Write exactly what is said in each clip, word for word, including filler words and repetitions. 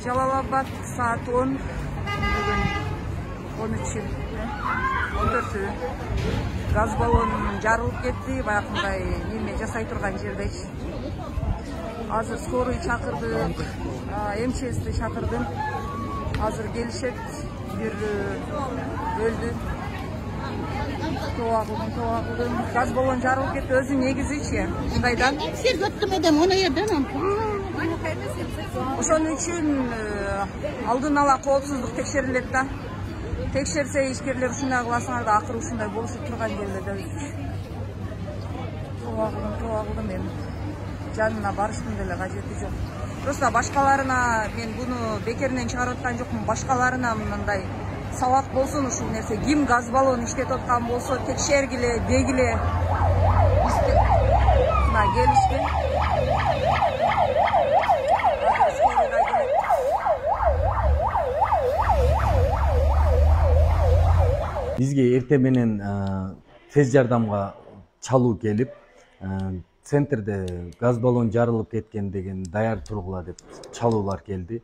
Жалал Абад саат он, бүгүн он үч, он төртү. Газ баллонун жарылып кетти, баягындай неме жасай турган жердечи. Азыр скорый чакырдык, МЧСти чакырдым. Азыр келишет, бир өлдү. Тоогулдум, тоогулдум. Газ баллон жарылып кетти, өзү негизичи. Мындайдан. Сиз өттүм эдем, оны жерден. Ошон үчүн алдын ала коопсуздук текшерилет да. Текшерсе ишкерлер ушундай кыласыңар да, акыры ушундай болушуп турган жерлерде өз. Тоогулдум, тоогулдум эми. Жанына барыштын деле кажети жок. Просто башкаларына мен буну бекеринен чыгарып аткан жокмун. Башкаларына мындай сабак болсун ушул нерсе. Ким газ баллон иштетип аткан болсо текшергиле, дегиле. Мына келишти. Бизге эрте менен тез жардамга чалуу келип, центрде газ баллон жарылып кеткен деген даяр тургула деп чалуулар келди.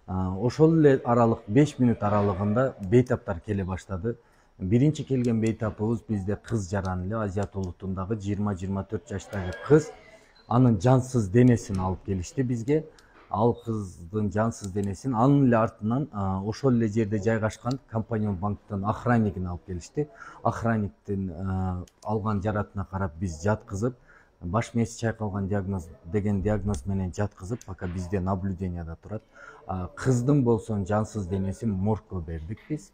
Ошол эле аралык беш мүнөт аралыгында бейтаптар келе баштады. Биринчи келген бейтапыбыз бизде кыз жаран эле, Азият улутундагы жыйырма жыйырма төрт жаштагы кыз. Анын жансыз денесин алып келишти бизге. Ал кыздын жансыз денесин анын эле артынан ошол эле жерде жайгашкан Компанион банктын охраннигин алып келишти. Охранниктин алган жаратына карап биз жаткызып, баш мээси чайкалган диагноз деген диагноз менен жаткызып, пока бизде наблюденияда турат. Кыздын болсо жансыз денесин моргко бердик биз.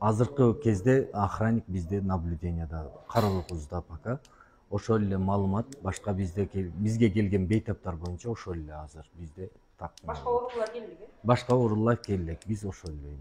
Азыркы кезде охранник бизде наблюденияда, карообузда пока. Ошол эле маалымат башка бизде бизге келген бейтаптар боюнча ошол эле азыр бизде так. Башка оорулар келдиби? Башка оорулар келди. Биз ошол эле.